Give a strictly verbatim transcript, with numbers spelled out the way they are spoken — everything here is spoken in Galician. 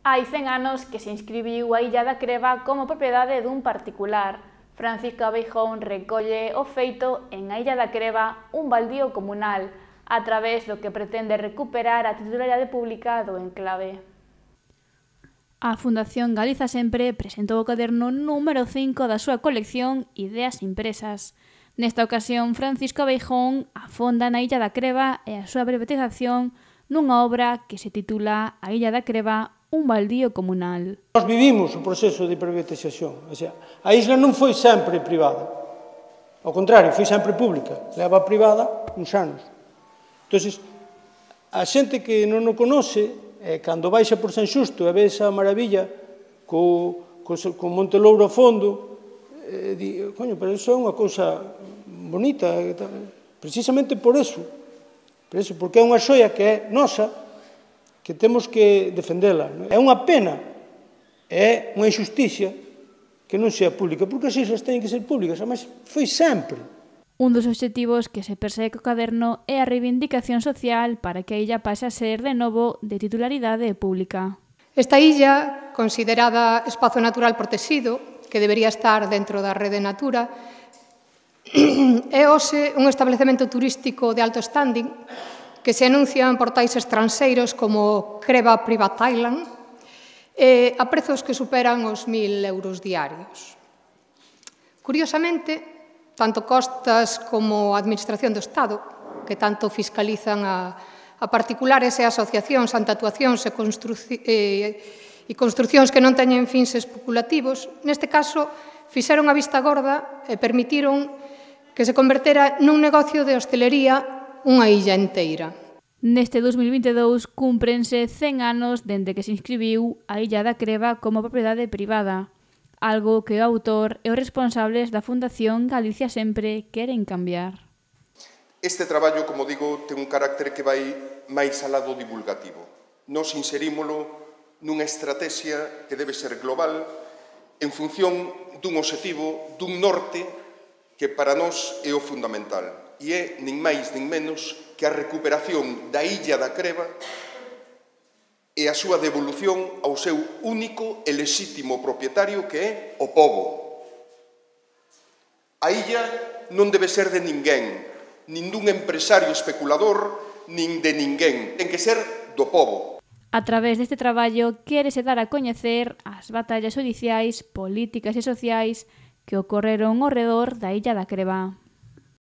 Hai cen anos que se inscribiu a Illa da Creba como propiedade dun particular. Francisco Abeijóns recolle o feito en a Illa da Creba, un baldío comunal, a través do que pretende recuperar a titularidade pública do enclave. A Fundación Galiza Sempre presentou o caderno número cinco da súa colección Ideas Impresas. Nesta ocasión, Francisco Abeijóns afonda na Illa da Creba e a súa privatización nunha obra que se titula A Illa da Creba, un baldío comunal. Nós vivimos o proceso de privatización, o sea, a isla non foi sempre privada, ao contrario, foi sempre pública, leva privada uns anos. Entón, a xente que non o conoce, eh, cando baixa por San Xusto e ve esa maravilla co, co, co Monte Louro ao fondo, eh, di, coño, pero iso é unha cousa bonita, precisamente por eso, por eso, porque é unha xoia que é nosa, que temos que defendela. É unha pena, é unha injusticia que non sea pública, porque as islas teñen que ser públicas, además foi sempre. Un dos obxectivos que se persegue co caderno é a reivindicación social para que a illa pase a ser de novo de titularidade pública. Esta illa, considerada espazo natural protegido, que debería estar dentro da rede Natura, é hoxe un establecemento turístico de alto standing que se anuncian en portais estranxeiros como Creba Private Island, eh, a prezos que superan os mil euros diarios. Curiosamente, tanto Costas como a Administración do Estado, que tanto fiscalizan a, a particulares e asociacións ante actuacións e, e, e construcións que non teñen fins especulativos, neste caso, fixeron a vista gorda e permitiron que se convertera nun negocio de hostelería unha illa inteira. Neste dos mil vinte e dous cúmprense cen anos dende que se inscribiu a Illa da Creba como propiedade privada, algo que o autor e os responsables da Fundación Galicia Sempre queren cambiar. Este traballo, como digo, ten un carácter que vai máis alá do divulgativo. Nos inserímolo nunha estrategia que debe ser global en función dun obxectivo, dun norte que para nós é o fundamental. E é, nin máis nin menos, que a recuperación da Illa da Creba e a súa devolución ao seu único e lexítimo propietario que é o pobo. A illa non debe ser de ninguén, nin dun empresario especulador, nin de ninguén. Ten que ser do pobo. A través deste traballo quérese dar a coñecer as batallas xudiciais, políticas e sociais que ocorreron ao redor da Illa da Creba.